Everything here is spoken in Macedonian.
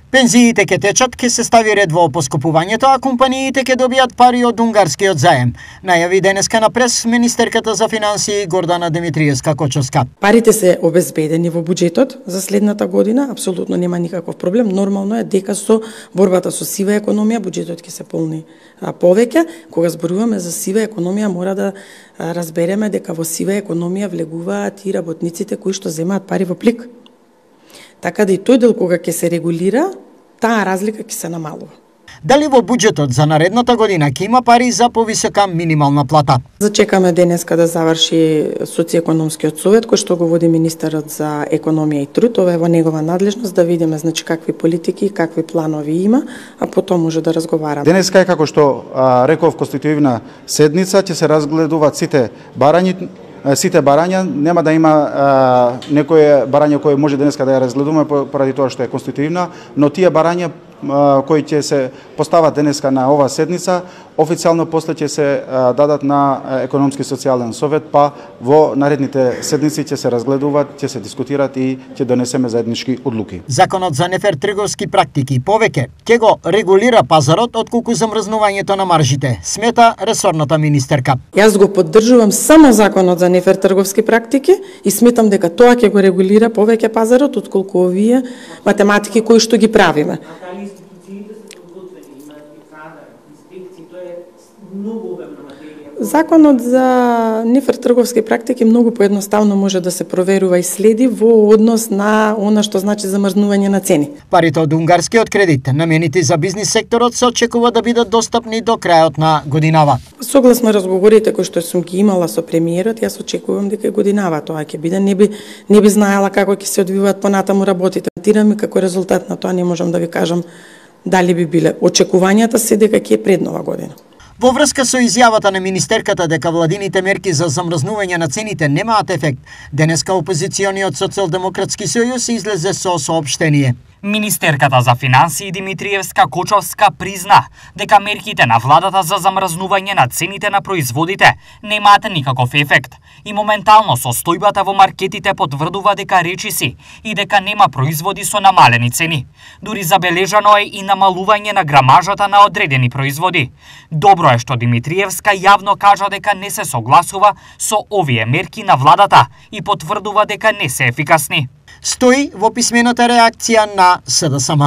Пензиите ќе течат, ќе се стави ред во поскупувањето, а компаниите ќе добијат пари од унгарскиот заем. Најави денеска на прес министерката за финансии Гордана Димитриевска-Кочовска. Парите се обезбедени во буџетот за следната година, апсолутно нема никаков проблем. Нормално е дека со борбата со сива економија буџетот ќе се полни повеќе. Кога зборуваме за сива економија, мора да разбереме дека во сива економија влегуваат и работниците кои што земаат пари во плик. Така да и тој дел кога ќе се регулира, таа разлика ќе се намалува. Дали во буџетот за наредната година ќе има пари за повисока минимална плата? Зачекаме денеска да заврши социјекономскиот совет кој што го води министерот за економија и труд. Ова е во негова надлежност да видиме какви политики и какви планови има, а потом може да разговараме. Денеска е како што реков конститутивна седница, ќе се разгледуваат сите барања, нема да има некое барање кое може денеска да ја разгледуваме поради тоа што е конститутивна, но тие барања кои ќе се постават денеска на оваа седница, официјално после ќе се дадат на економски социјален совет, па во наредните седници ќе се разгледуваат, ќе се дискутираат и ќе донесеме заеднички одлуки. Законот за нефер трговски практики повеќе ќе го регулира пазарот отколку замрзнувањето на маржите, смета ресорната министерка. Јас го поддржувам само законот за нефер трговски практики и сметам дека тоа ќе го регулира повеќе пазарот отколку овие математики кои што ги правиме. Законот за нефер трговски практики многу поедноставно може да се проверува и следи во однос на она што значи замрзнување на цени. Парите од унгарскиот кредит наменети за бизнис секторот се очекува да бидат достапни до крајот на годинава. Согласно разговорите кои што сум ги имала со премиерот, јас очекувам дека годинава тоа ќе биде, не би знаела како ќе се одвиваат понатаму работите. Тираме како резултат на тоа не можам да ви кажам дали би биле. Очекувањата се дека ќе е пред нова година. Во врска со изјавата на министерката дека владините мерки за замрзнување на цените немаат ефект, денеска опозициониот Социјалдемократски сојуз излезе со соопштение. Министерката за финансии Димитриевска-Кочовска призна дека мерките на владата за замрзнување на цените на производите немаат никаков ефект и моментално состојбата во маркетите потврдува дека речиси и дека нема производи со намалени цени. Дури забележано е и намалување на грамажата на одредени производи. Добро е што Димитриевска јавно кажа дека не се согласува со овие мерки на владата и потврдува дека не се ефикасни. Стои во писмената реакција на СДСМ.